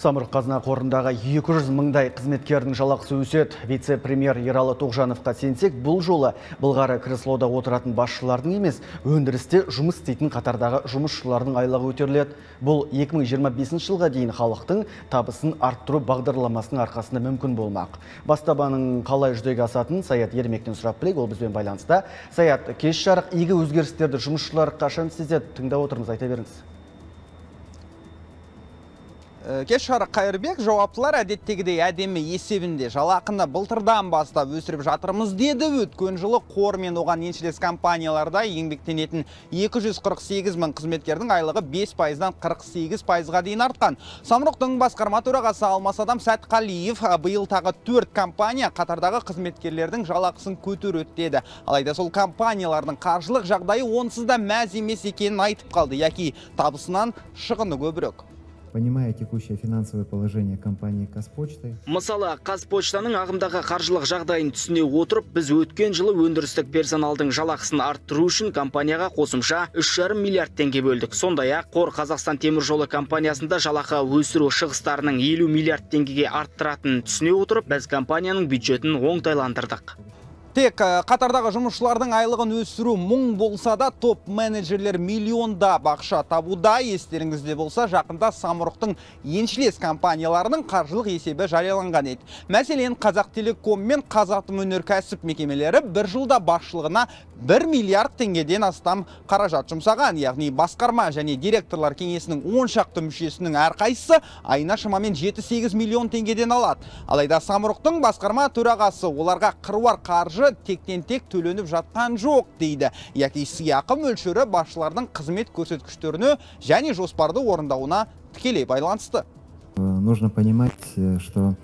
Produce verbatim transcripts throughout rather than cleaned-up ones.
Самұрық-қазына қорындағы екі жүз мыңдай қызметкердің жалақысы өседі. Вице-премьер Ералы Тоғжановқа сенсек, бұл жолы былғары креслода отыратын басшылардың емес, өндірісте жұмыс істейтін қатардағы жұмысшылардың айлығы көтеріледі. Бұл екі мың жиырма бесінші жылға дейін халықтың табысын арттыру бағдарламасының арқасында мүмкін болмақ. Бастаманың қалай жүзеге асатынын Саят Ермектен сұрап білейік, ол бізбен байланыста. Саят, кеш жарық игі өзгерістерді жұмысшылар қашан сезеді? Тыңдап отырмыз, айта беріңіз. Кеш жарық, Қайырбек, жауаптылар әдеттегідей әдемі есебінде жалақыны былтырдан бастап өсіріп жатырмыз деді. Өткен жылы қор мен оған еншілес компанияларда еңбектенетін екі жүз қырық сегіз мың қызметкердің айлығы бес пайыздан қырық сегіз пайызға дейін артқан. Самұрықтың басқарма төрағасы Алмасадам Сәтқалиев биыл тағы төрт компания қатардағы қызметкерлердің жалақысын көтереді деді. Алайда сол компаниялардың қаржылық жағдайы онсыз да мәз емес екенін айтып қалды, яки табысынан шығыны көбірек. Понимая текущее финансовое положение компании Қазпочты. Мысалы, Қазпочтаның ағымдағы қаржылық жағдайын түсіне отырып, біз өткен жылы өндірістік персоналдың жалақысын арттыру үшін компанияға қосымша үш жарым миллиард теңге бөлдік. Сондай-ақ Қор Қазақстан темір жолы компаниясында жалақы өсіру шығыстарының елу миллиард теңгеге арттыратынын түсіне отырып, біз компанияның бюджетін оңтайландырдық. Тек қатардағы жұмысшылардың айлығын өсіру мұң болса да, топ менеджерлер миллионда бақша табуда. Естеріңізде болса, жақында Самұрықтың еншілес компанияларының қаржылық есебі жарияланған еді. Мәселен, Қазақтелеком мен Қазатомөнеркәсіп мекемелері бір жылда басшылығына бір миллиард теңгеден астам қаражат жұмсаған. Яғни басқарма және директорлар кеңесінің он шақты мүшесінің әрқайсысы айына шамамен жеті-сегіз миллион теңгеден алады. Алайда Самұрықтың басқарма төрағасы оларға қыруар қаржы тектен-тек төленіп жатқан жоқ дейді. Яки сыйақы мөлшері басшылардың қызмет көрсеткіштеріне және жоспарды орындауына тікелей байланысты. Нужно понимать, что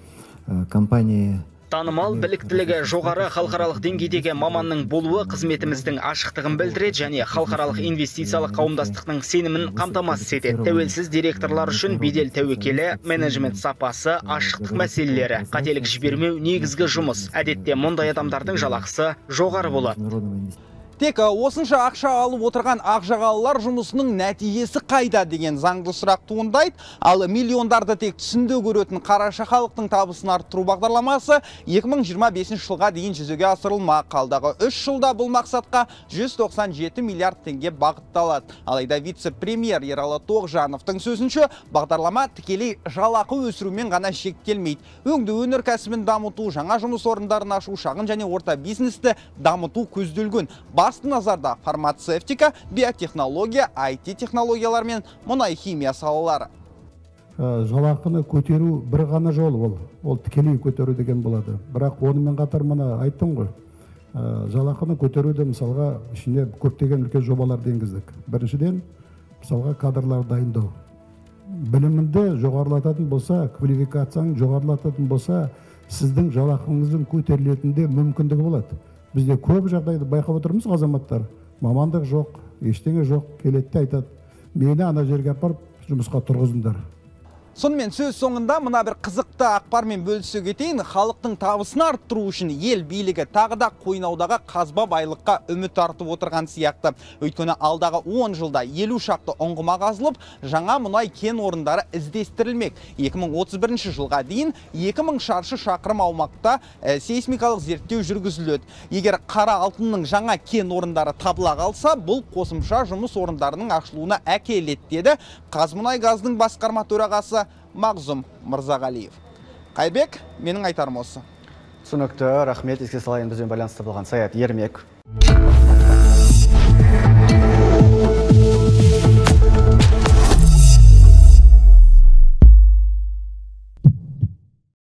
компания Танымал біліктілігі жоғары халықаралық деңгейдегі маманның болуы қызметіміздің ашықтығын білдіреді және халықаралық инвестициялық қауымдастықтың сенімін қамтамасыз етеді. Тәуелсіз директорлар үшін бедел тәуекелі, менеджмент сапасы, ашықтық мәселелері, қателік жібермеу негізгі жұмыс. Әдетте мұндай адамдардың жалақысы жоғары болады. Тек осынша ақша алып отырған ақжағалылар жұмысының нәтижесі қайда деген заңды сұрақ туындайды. Ал миллиондарды тек түсінде көретін қараша халықтың табысын арттыру бағдарламасы екі мың жиырма бесінші жылға дейін жүзеге асырылмақ. Қалдағы үш жылда бұл мақсатқа жүз тоқсан жеті миллиард теңге бағытталады. Алайда вице-премьер Ералы Тоғжановтың сөзінше, бағдарлама тікелей жалақы өсірумен ғана шектелмейді. Өңдеу өнеркәсібін дамыту, жаңа жұмыс орындарын ашу, шағын және орта бизнесті дамыту көзделген. Басты назарда фармацевтика, биотехнология, ай ти технологиялар мен мұнай химия салалары. Жалақыны көтеру бір ғана жол ол. Ол тікелей көтеру деген болады. Бірақ онымен қатар мына айттым ғой. Жалақыны көтеруде мысалға ішіне көптеген үлкен жобаларды енгіздік. Біріншіден, мысалға кадрлар дайындау. Білімінді жоғарылататын болса, квалификацияң жоғарылататын болса, сіздің жалақыңыздың көтерілетінде мүмкіндігі болады. Бізде көп жағдайды байқап отырмыз, азаматтар. Мамандық жоқ, ештеңе жоқ, келетті айтады. Мені ана жерге апарып жұмысқа тұрғызыңдар. Сонымен сөз соңында мына бір қызықты ақпармен бөлісе кетейін. Халықтың табысын арттыру үшін ел билігі тағы да қойнаудағы қазба байлыққа үміт артып отырған сияқты. Өйткені алдағы он жылда елу шақты ұңғыма қазылып, жаңа мұнай кен орындары іздестірілмек. екі мың отыз бірінші жылға дейін екі мың шаршы шақырым аумақта сейсмикалық зерттеу жүргізіледі. Егер қара алтынның жаңа кен орындары табыла қалса, бұл қосымша жұмыс орындарының ашылуына әкеледі деді Қазмұнайгаздың басқарма төрағасы Мағзұм Мырзағалиев. Қайбек, менің айтарым осы. Түсінікті, рахмет, еске салайын, бізбен байланысты болған Саят Ермек.